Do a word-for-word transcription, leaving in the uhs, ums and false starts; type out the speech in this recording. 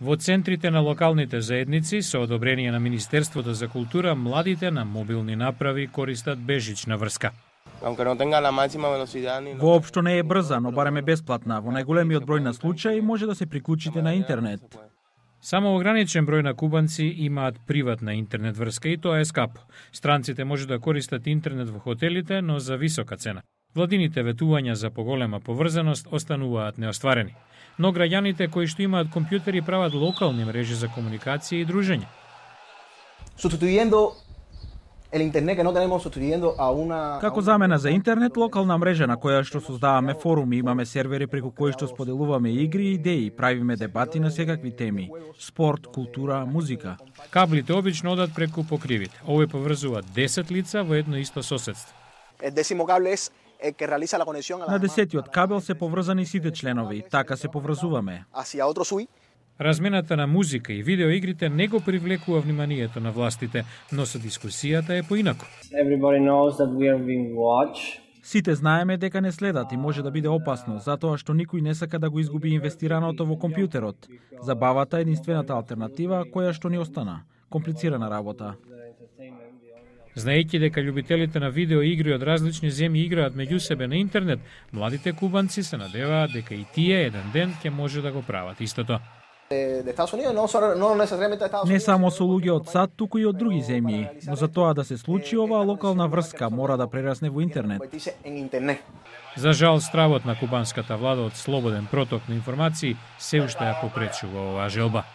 Во центрите на локалните заедници со одобрение на Министерството за култура, младите на мобилни направи користат бежична врска. Воопшто не е брза, но барем е бесплатна. Во најголемиот број на случаи може да се приклучите на интернет. Само ограничен број на кубанци имаат приватна интернет врска и тоа е скапо. Странците може да користат интернет во хотелите, но за висока цена. Владините ветувања за поголема поврзаност остануваат неостварени. Но граѓаните кои што имаат компјутери прават локални мрежи за комуникација и дружење. Како замена за интернет, локална мрежа на која што создаваме форуми, имаме сервери преку кои што споделуваме игри и идеи, правиме дебати на секакви теми: спорт, култура, музика. Каблите обично одат преку покривите. Овој поврзува десет лица во едно исто соседство. На десетиот кабел се поврзани сите членови, така се поврзуваме. Размената на музика и видеоигрите не го привлекува вниманието на властите, но со дискусијата е поинаку. Сите знаеме дека не следат и може да биде опасно, затоа што никој не сака да го изгуби инвестираното во компјутерот. Забавата е единствената алтернатива која што ни остана. Комплицирана работа. Знаејќи дека љубителите на видеоигри од различни земји играат меѓу себе на интернет, младите кубанци се надеваат дека и тие еден ден ќе може да го прават истото. Не само со луѓе од САД, туку и од други земји, но за тоа да се случи, оваа локална врска мора да прерасне во интернет. За жал, стравот на кубанската влада од слободен проток на информации се уште ја попречува оваа желба.